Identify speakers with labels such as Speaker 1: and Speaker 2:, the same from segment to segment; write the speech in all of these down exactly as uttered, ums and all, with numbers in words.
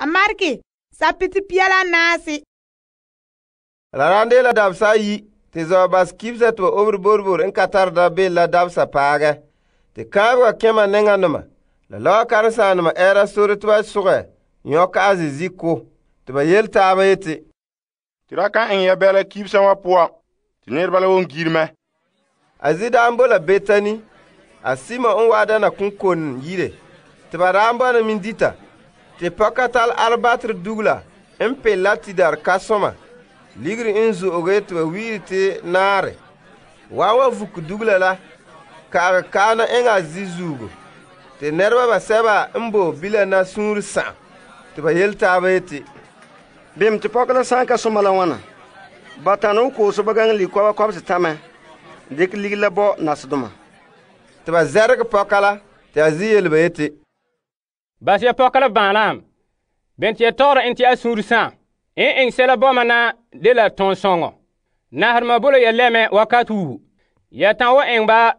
Speaker 1: a marke sapete pia la naase.
Speaker 2: La ran de la dabsa ayi te zɔɔbas kibsa te ba obere borbor n ka tare dabeem la dabsa paagɛ. Te kãabega kẽma nɛŋanoma la lɔa karen-saanema ɛɛra sore te ba sogɛ nyɔkɛ a zizi ko. Te ba yele taaba yeti,
Speaker 3: te ra kan eŋɛ ya bɛla kibsa wa poan te nɛreba la won gire mɛ.
Speaker 2: A zi daan bo la Betani, a Simon n waa dana konkone yire. Te ba daan bɔna min dita. Te pɔka tall albatr dugula n pel la tidar kasɔma. Ligiri n zo'oge te ba wiiri te naare. Waa wa vuk dugula la, ka'agɛ kaana eŋɛ a zi zuugo. Te nɛreba basɛba n bo bila na suunre sa'am. Te ba yele taaba yeti,
Speaker 4: bem te pɔka la sãn ka soma la wãna? Ba tane wo kooso ba gaŋɛ likɔba kɔbese tamɛ, dikɛ ligiri la bɔ nasedoma.
Speaker 2: Te ba zɛregɛ pɔka la, te a zi yele ba yeti,
Speaker 5: bas ya pɔka la bãalam, bem te ya tɔgɔra en te a suunre sãam. En eŋ sɛla bɔma na de la tõog-sõŋɔ. Nasadema bo la ya lɛmɛ wakat wuhu. Ya tãn wa eŋ ba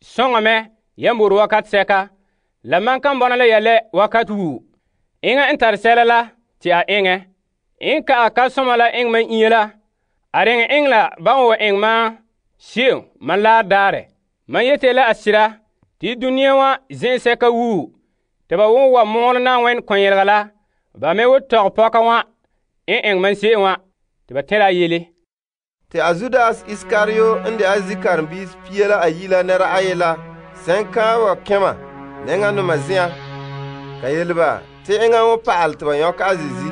Speaker 5: sõŋɔ mɛ ya mor wakat sɛka, la man kan bɔna la ya lɛ wakat wuhu. Eŋa n tare sɛla la te a eŋɛ. En ka ka soma la eŋ man inya la, a reŋ eŋ la ba wa eŋ ma se'em man laar daarɛ. Man yete la a sira te dũniyã wã zĩ'ɛ sɛka wuhu, te ba won wa mɔɔlɛ Na'ayenɛ kɔn-yelega la, ba me wo tɔg pɔka wã en eŋ man se'em wã, te ba tɛra a yele.
Speaker 2: Te a Judas Iskario n de a zi karen-biis pia la ayi la nɛra ayi la sẽn kãabega kẽma nɛŋanoma zen'an, ka yele ba te eŋa wõ pa'al te ba yõk a zizi.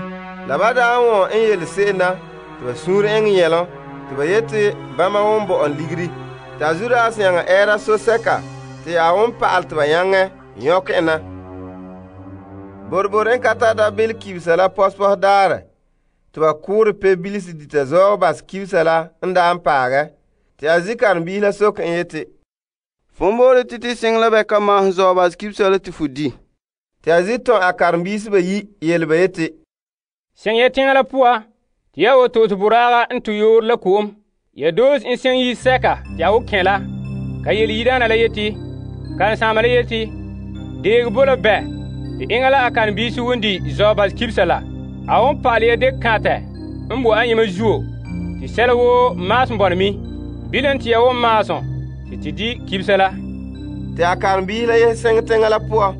Speaker 2: La ba daa wõ n yele se'em na te ba suur eŋɛ yɛlɔ te ba yete bãmba won bo'on ligiri. Te a Judas nyaŋɛ ɛɛra so-sɛka te a won pa'al te ba nyaŋɛ yõk en na. Borbor n ka tara dabeem kibsa la pɔspɔs daarɛ te ba kʋʋrɛ pe-bilisi dita zɔɔbas kibsa la n daa n paagɛ. Te a zi karen-biis la sok n yeti,
Speaker 6: fo moore tɩ tɩ sɩng la bɛ ka maasem zɔɔbas kibsa la tɩ fo di.
Speaker 2: Te a zi tõe a karen-biis bayi yele ba yeti,
Speaker 5: sẽn ya tẽngã la pʋga tɩ ya woto tɩ boraaga n tɩ yoor la ko'om. Ya doos n sẽn yi sɛka tɩ a wo kẽ la. Ka yele yidaana la yeti, karen-sãama la yeti, deeg bo la bɛ tɩ eŋa la a karen-biisi won di zɔɔbas kibsa la. A won pa'al ya dek kãtɛ n bo a yẽma zuo tɩ sɛla woo maasem bɔna mi. Bilam tɩ ya won maasem tɩ tɩ di kibsa la.
Speaker 2: Te a karen-biis la yese sẽng teŋa la pʋgã,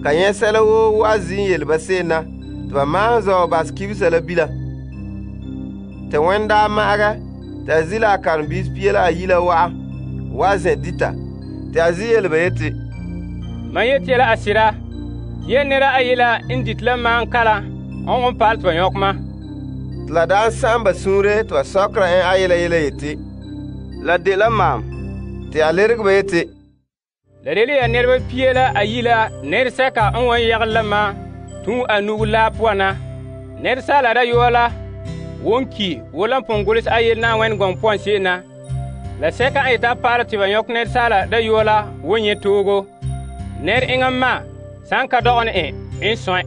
Speaker 2: ka yẽ sɛla woo wa zĩ n yele ba se'em na, tɩ ba maasem zɔɔbas kibsa la bila. Te wẽn daa ma'agɛ, tɩ a zi la a karen-biis pia la ayi la wa'a, wa zẽ dita. Tɩ a zi yele ba yeti,
Speaker 5: man yeti la a sɩda, tɩ ya nera ayi la n dit la maan kalam n won pa'al tɩ ba yõk ma.
Speaker 2: Tɩ la daa n sãam ba suure tɩ ba sɔkera en a yela yela yeti,
Speaker 6: la de la maam.
Speaker 2: Tɩ a lerg ba yeti,
Speaker 5: la de le ya nɛreba pia la ayi la nɛresɛka n wan yagel la ma tũ a nugu laa poan na. Nɛresaala dayɔa la won ki wo la n pʋgẽ gʋls a yel Na'ayenɛ gɔŋ poan se'em na. La sɛka n yeta paara tɩ ba yõk nɛresaala dayɔa la won yẽ toogo. Nɛr eŋa ma sãn ka dɔgɛ ne en n sõe.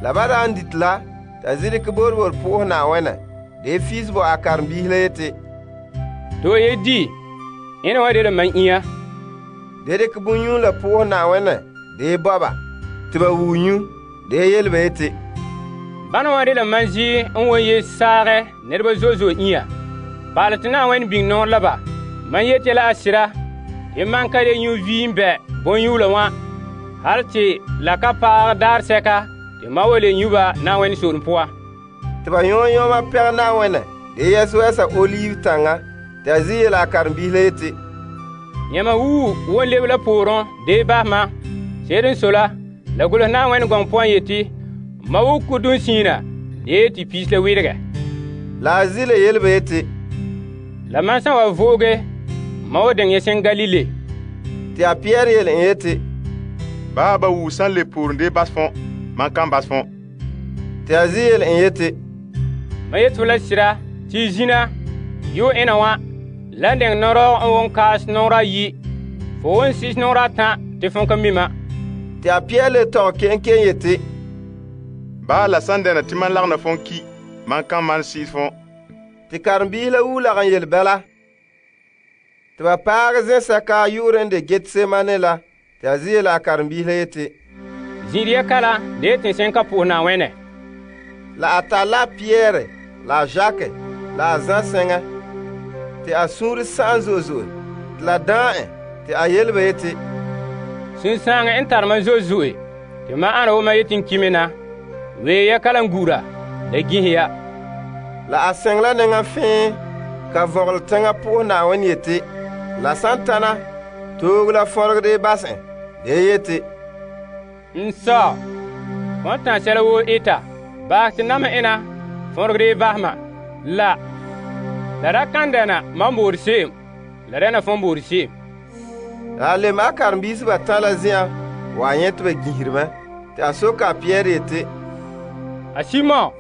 Speaker 2: La ba daa n dit la, tɩ a zi dɩkɛ borbor pʋʋs Na'ayenɛ, de fiis bo a karen-biis la yeti,
Speaker 5: to ye di, ẽna wã de la man inya.
Speaker 2: De dɩkɛ bõn-yũu la pʋʋs Na'ayenɛ, de bɔba, tɩ ba wuu nyu, de yele ba yeti,
Speaker 5: bãna wã de la man zi n won ye saagɛ nɛreba zo'e zo'e inya. Paal tɩ Na'ayenɛ biŋ noor la ba. Man yete la a sɩda tɩ man ka de nyu viim bɛ bõn-yũula wã, hal tɩ la ka paag daar sɛka tɩ ma wa le nyu ba Na'ayenɛ soolem pʋga.
Speaker 2: Tɩ ba yõ yõma pɛg Na'ayenɛ, de yɛs-wɛsa oliv tãngã. Tɩ a zi yele a karen-biis la yeti,
Speaker 5: yãma wuu won leb la poorẽ de basmã. Seed n so la, la gʋls Na'ayenɛ gɔŋ poan yeti, ma wuk kudum sĩina de tɩ piis la wɩdgɛ.
Speaker 2: La a zi la yele ba yeti,
Speaker 5: la man sã wa vooge, ma wa deng yẽsẽn Galile.
Speaker 2: Tɩ a Pɩyɛɛr yele n yeti,
Speaker 3: Baa ba wuu sãn le poorẽ dee bas fõ, man kan bas fõ.
Speaker 2: Tɩ a zi yele n yeti,
Speaker 5: ma yet fo la sɩda tɩ zĩna yo ẽna wã la n deng norɔg n won kaas noorã yi, fo won sis noorã tã tɩ fõ ka mima.
Speaker 2: Tɩ a Pɩyɛɛr le tɔg ken ken yeti,
Speaker 3: Baa la sãn dɛna tɩ man lagna fõn ki, man kan man siis fõ.
Speaker 2: Tɩ karen-biis la wuu lagn yel bɛla. Tɩ ba paag zẽ-sɛka yʋʋr n de Getsemane la, tɩ a zi yele a karen-biis la yeti,
Speaker 5: zin'ire kala de tensɛn ka po'e Na'ayenɛ.
Speaker 2: La a tare la Pierre la a Jacques la a Zan sɛŋa te a suunre sa'am zo'e zo'e te la daan en te a yele ba yeti,
Speaker 5: Sunsaaŋɛ n tare mam zo'e zo'e te mam ana wo mam yeti n kime na. Wee ya kalam gura la ginhe ya.
Speaker 2: La a sɛŋ la nɛŋa fẽe ka vɔgele teŋa po'ohɛ Na'ayenɛ yeti, la san tana toog la fɔregede bas en de yeti,
Speaker 5: N sɔ, fɔn tãn sɛla woo eta, baas te nam ena fɔregede bas ma. La, la da kan dɛna mam boore se'em, la dɛna fɔn boore se'em.
Speaker 2: La a lem a karenbiisi batan la zen'an wa a nyɛ te ba ginhiri mɛ, te a soka a Pierre yeti,
Speaker 5: A Simon,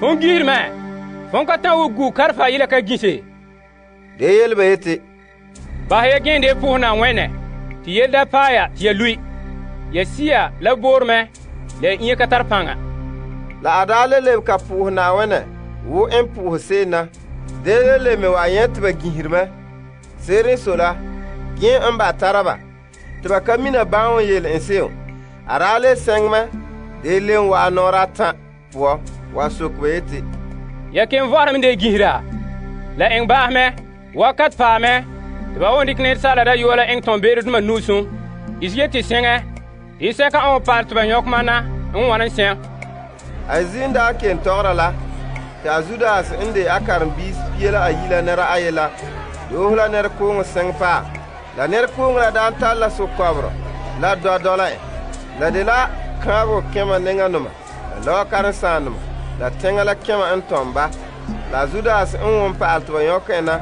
Speaker 5: fɔn gihiri mɛ, fɔn ka tan wo gu karfa yila ka gise.
Speaker 2: de yele ba yeti,
Speaker 5: Bahɛ ya gẽende po'ohɛ Na'ayenɛ, tɩ yele da paɛ ya tɩ ya lui. Ya sia la boore mɛ, la ya inya ka tar paŋa.
Speaker 2: La a daa le lebe ka po'ohɛ Na'ayenɛ wo n po'ohɛ se'em na. De le le me wa a nyɛ te ba ginhiri mɛ. Se'ere n so la, gẽ n ba tara ba, te ba ka mina bãan n yele n se'em. A daa le sɛŋ mɛ, de le n wa'a nɔɔrɛ atan poɔ wa sok ba yeti,
Speaker 5: Ya ken vɔrem de gihira. La eŋ baas mɛ, wakat paɛ mɛ, tɩ ba won dɩk nɛresaala dayɔa la eŋ tõn-beere-dʋma nusum. Is yeti sẽŋɛ, tɩ sɛka n wa paal tɩ ba yõk mam na n wan n sɛm.
Speaker 2: A zin daa ken tɔgera la, te a Zudas n de a karenbiis pia la ayi la nɛra aye la doohe la nɛrekooŋɔ sɛŋ paam. La nɛrekooŋɔ la daan tare la sokɔbɔrɔ la dɔ dɔla en. La de la kãabego kẽma nɛŋanoma la lɔɔ-karen-sãandoma la tɛŋa la kẽma n tɔm ba. La Zudas n won pa'al tɩ ba yõk en na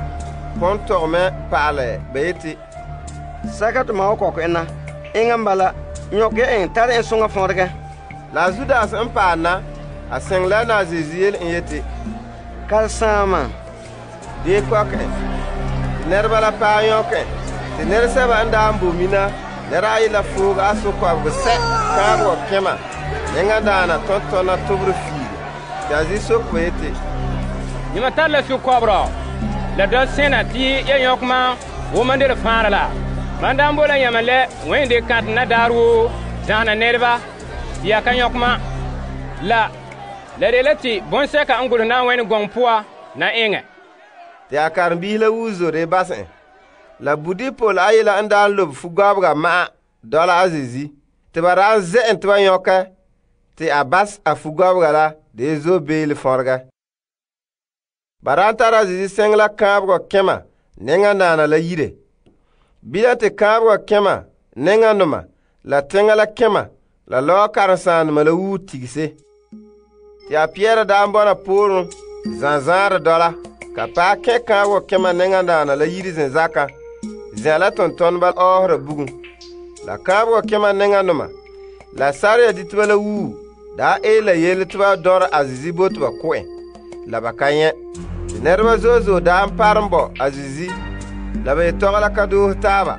Speaker 2: pɔn tɔg mɛ pa'alɛ ba yeti,
Speaker 4: Sɛka tɩ ma wa kɔk en na, eŋa n bala, yõk ya en tare en sõŋa fõdgɛ.
Speaker 2: La Zudas n paal na, a sɛŋ la na a Zeezi yele n yeti,
Speaker 4: Karesaamã,
Speaker 2: dee kɔk en. Tɩ nɛreba la paɛ yõk en. Tɩ nɛresɛba n daa n bo mina nɛra ayi la fooge a sokɔbego sɛ kãabegɔ kẽma nɛŋadaana tɔn-tɔna tobre fiire. Tɩ a zi sok ba yeti,
Speaker 5: Yãmba tar la sukɔbrɔ, la dɔ sẽna tɩ ya yõk mam wo man de fãara la. Man daan bo la yãmba lɛ wẽn de kãt na daar woo zãana nɛreba tɩ ya ka yõk mam. La, la de la tɩ bõn-sɛka n gʋlsɛ Na'ayenɛ gɔŋ poa na eŋɛ.
Speaker 2: tɩ a karenbiis la wuu zore bas en. La Budipol ayi la n daa n lobe fu-gɔbega ma'a dɔla a Zeezi, tɩ ba daa n zɛ en tɩ ba yõkɛ, tɩ a bas a fu-gɔbega la de zo beele fõrgɛ. Ba daa n tara a Zeezi sɛŋ la kãabegɔ kẽma nɛŋadaana la yire. Bilam tɩ kãabegɔ kẽma nɛŋanoma la tẽŋa la kẽma la lɔɔ-karen-sãandema la wuu tigse. Tɩ a Pɩɛrɛ daa n bɔna pooren zãzãare dɔla, ka paɛ kẽ kãabegɔ kẽma nɛŋadaana la yiri zenzaka, zẽ la tʋm-tɔneba ɔɔsera bugum. La kãabegɔ kẽma nɛŋanoma la sarya diteba la wuu daa ee la yele tɩ ba dɔrɛ a Zeezi bo tɩ ba kʋ en, la ba ka yẽ. Tɩ nɛreba zo'e zo'e daa n parem bɔ a Zeezi, la ba yetɔgɔ la ka doose taaba.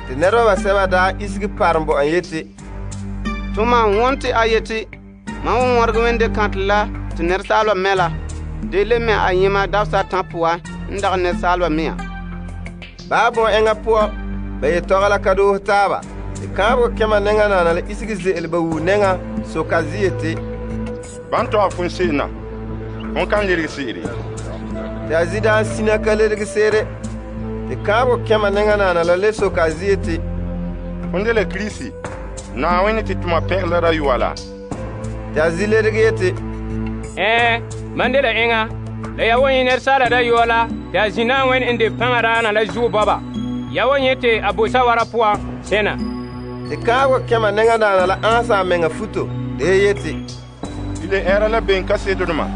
Speaker 2: Tɩ nɛreba basɛba daa isegi parem bɔ en yeti,
Speaker 6: Tɩ mam wõn tɩ a yeti, mam wõ wãreg wẽn de kãtɛ la tɩ nɛresaalba mɛ la, de le mɛ a yẽma dabsa tã pʋga n dag nɛresaalba mea.
Speaker 2: baa bõn eŋa poɔ ba yetɔgɔ la ka doose taaba. Tɩ kãabegɔ kẽma nɛŋanaana la isegi ze'ele ba wuu nɛŋa soka zi yeti,
Speaker 3: Ban tɔgɛ fõn se'em na, fõn kan lerege se'ere.
Speaker 2: tɩ a zi daa n sina ka ledege seere. Tɩ kãabegɔ kẽma nɛŋanaana la le soka a zi yeti,
Speaker 3: Fõn de la Kirisi, Na'ayenɛ tɩ tʋma pẽgla la rayuwa la.
Speaker 2: tɩ a zi ledege yeti,
Speaker 5: Ɛɛ, man de la eŋa, la ya wa yẽ nɛresaala dayɔa la tɩ a zĩ Na'ayenɛ n de pãngã raana la zuo bɔba. Ya wa yẽ tɩ a bo sawara poa sẽna.
Speaker 2: tɩ kãabegɔ kẽma nɛŋadaana la ãasa a meŋa futo de yeti,
Speaker 3: Ile ɛɛra la ben kaseetdoma,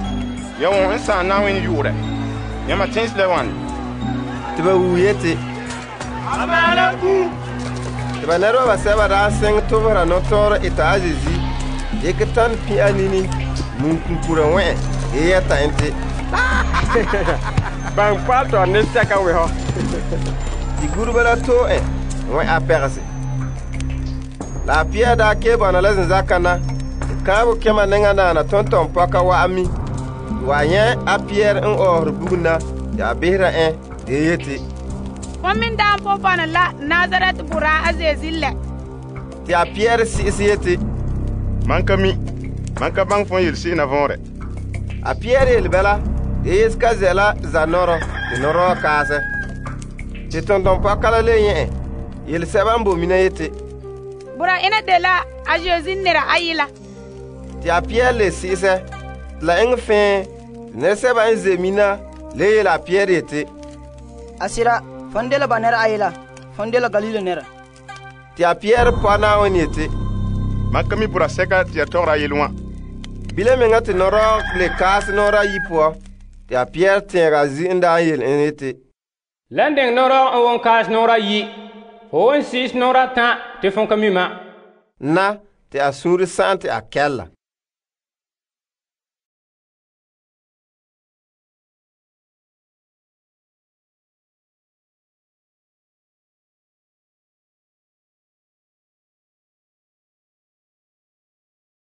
Speaker 3: ya wõ n sãam Na'ayenɛ yʋʋrɛ. Yãmba tẽns la wãne.
Speaker 2: tɩ ba wuu yeti, tɩ ba nɛreba basɛba daa sɛŋ tʋbsra nɔtɔɔrɔ eta a Zeezi, dɩk tãn pĩ a nini mum kunkura wẽ de yɛta en tɩ,
Speaker 4: Ban paal tɔ ne sɛka wesɔ.
Speaker 2: tɩ gurba la too en wẽ a pɛgse. La a Pɩyɛ daa kee bɔna la zenzaka na, tɩ kãabegɔ kẽma nɛŋadaana tõn-tɔm pɔka wa a mi. Tɩ wa yẽ a Pɩyɛɛr n ɔɔsere bugum na tɩ a bisera en de yeti,
Speaker 1: Fo min daa n po bɔna la Nazaret boraa a Zeezi lɛ.
Speaker 2: tɩ a Pɩyɛɛr sɩ'ɛs yeti,
Speaker 3: Man ka mi. Man ka baŋɛ fon yele se'em na vɔnrɛ.
Speaker 2: A Pierre yele bala, de Yesu ka zɛ la zanɔrɔ te nɔrɔɔ kaasɛ. Te tontonpɔka la le nyɛ' yele sɛba n boe mina yeti,
Speaker 1: Bura ina de la a Yesu nera ayi la.
Speaker 2: Te a Pierre le si'isɛ, te la eŋɛ fɛɛ, te nɛresɛba n ze mina le yele a Pierre yeti,
Speaker 7: Asira, fon de la ba nɛra ayi la, fon de la Galile nɛra.
Speaker 2: Te a Pierre pɔ Naawuni yeti,
Speaker 3: Man ka mi bura sɛka te ya tɔgɔra a yele wã.
Speaker 2: Bile meŋa te nɔrɔɔ le kaasɛ nɔɔrɛ ayi poɔ, te a Pierre tɛɛga a zi n daa yele en yeti,
Speaker 5: Lan deŋ nɔrɔɔ n won kaas nɔɔrɛ ayi, fo won siis nɔɔrɛ atã te fon ka mi ma.
Speaker 2: Na, te a suunre sa'am te a kɛlla.